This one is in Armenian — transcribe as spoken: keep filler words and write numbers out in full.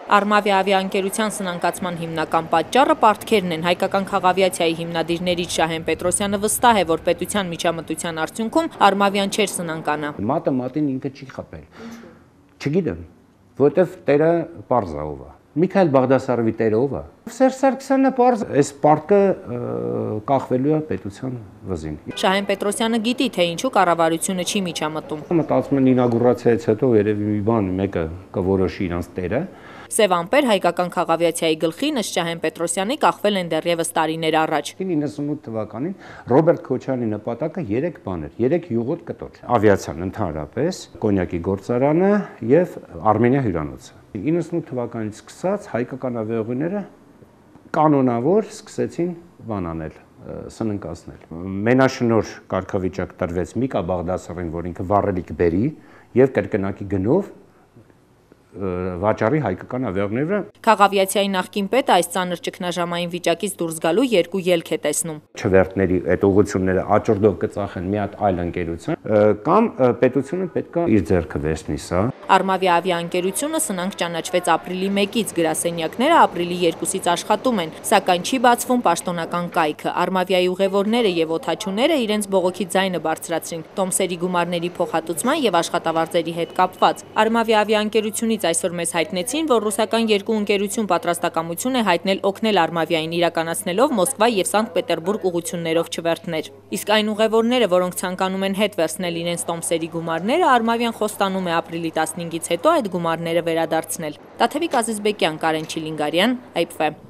Արմավիա ավիաընկերության սնանկացման հիմնական պատճառը պարտքերն են։ Հայկական քաղավիացիայի հիմնադիրներից Շահեն Պետրոսյանը վստահ է, որ պետության միջամտության արդյունքում Արմավիան չէր սնանկանա։ Մատը մատին ինքը չի խփել։ Չգիտեմ, որտեվ տերը պարզ է ով է։ Միքայել Բաղդասարովի տերը ով է։ Սերժ Սարգսյանը պարզ այս պարտքը կախվելու է պետության վզին։ Շահեն Պետրոսյանը գիտի, թե ինչու կառավարությունը չի միջամտում։ Մտածում եմ ինագուրացիայից հետո երևի մի բան մեկը կորոշի իրանց տերը։ Սև ամպեր հայկական քաղավիացիայի գլխին ըստ Շահեն Պետրոսյանի կախվել են դեռևս տարիներ առաջ։ իննսունութ թվականին Ռոբերտ Քոչարյանի նպատակը երեք բան էր, երեք յուղոտ կտոր։ Ավիացիան ընդհանրապես, կոնյակի գործարանը եւ Արմենիա հյուրանոցը։ իննսունութ թվականից սկսած հայկական ավիաուղիները կանոնավոր սկսեցին բան անել, սննկացնել։ Մենաշնոր կարգավիճակ տրվեց Միկա Բաղդասարովին, որ ինքը վառելիք բերի եւ կրկնակի գնով վաճառի հայկական ավիաուղիների վրա։ Քաղավիացիայի նախկին պետը այս ծանր ճգնաժամային վիճակից դուրս գալու երկու ելք է տեսնում։ Չվերթների այդ ուղղությունները աճորդով կծախեն մի հատ այլ ընկերություն, կամ պետությունը պետք է իր ձեռքը վերցնի սա։ Արմավիա ավիաընկերությունը սնանկ ճանաչվեց ապրիլի մեկից, գրասենյակները ապրիլի երկուսից աշխատում են, սակայն չի բացվում պաշտոնական կայքը։ Արմավիայի ուղևորները եւ օդաչուները իրենց բողոքի ձայնը բարձրացրին տոմսերի գումարների փոխհատուցման եւ աշխատավարձերի հետ կապված։ Արմավիա ավիաընկերությունից այսօր մեզ հայտնեցին, որ ռուսական երկու ընկերություն պատրաստակամություն է հայտնել օգնել Արմավիային իրականացնելով Մոսկվա եւ Սանկտ Պետերբուրգ ուղղություններով չվերթներ։ Իսկ այն ուղևորները, որոնք ցանկանում են հետ վերցնել իրենց տոմսերի գումարները, Արմավիան խոստանում է ապրիլի տասնհինգից հետո այդ գումարները վերադարձնել։ Տաթևիկ Ազիզբեկյան, Կարեն Չիլինգարյան, Այ Փ Ֆ։